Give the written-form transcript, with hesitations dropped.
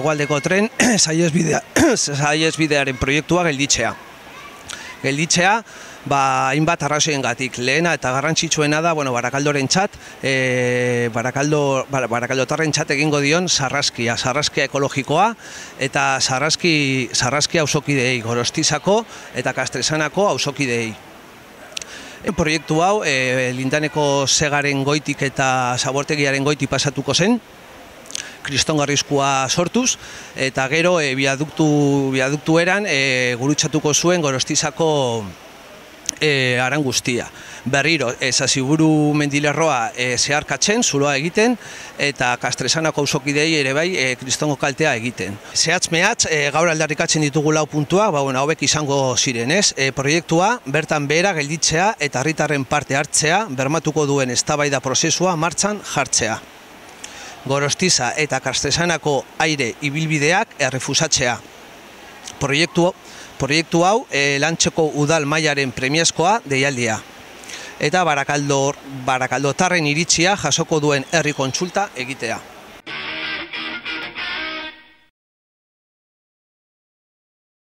hegoaldeko tren saihesbidearen proiektua gelditzea. Hainbat arrazoiengatik. Lehena eta garrantzitsuena da, Barakaldorentzat, Barakaldotarrentzat egingo dion sarraskia ekologikoa eta sarraskia auzokideei, Gorostizako eta Kastresanako auzokideei. Proiektu hau Lindaneko segaren goitik eta zabortegiaren goitik pasatuko zen, kristongarrizkoa sortuz, eta gero biaduktu eran gurutzatuko zuen Gorostizako aran guztia. Berriro, Zaziburu mendilerroa zeharkatzen, zuloa egiten, eta Kastresanako auzokidei ere bai kristongo kaltea egiten. Zehatz-mehatz, gaur aldarrikatzen ditugu 4 puntua, hauek izango ziren, ez? Proiektua bertan behera gelditzea eta herritarren parte hartzea, bermatuko duen eztabaida prozesua martxan jartzea. Gorostiza eta Kastresanako aire ibilbideak errefusatzea. Proiektu hau lantzeko udal mailaren premiazkoa deialdia. Eta Barakaldotarren iritzia jasoko duen herri kontsulta egitea.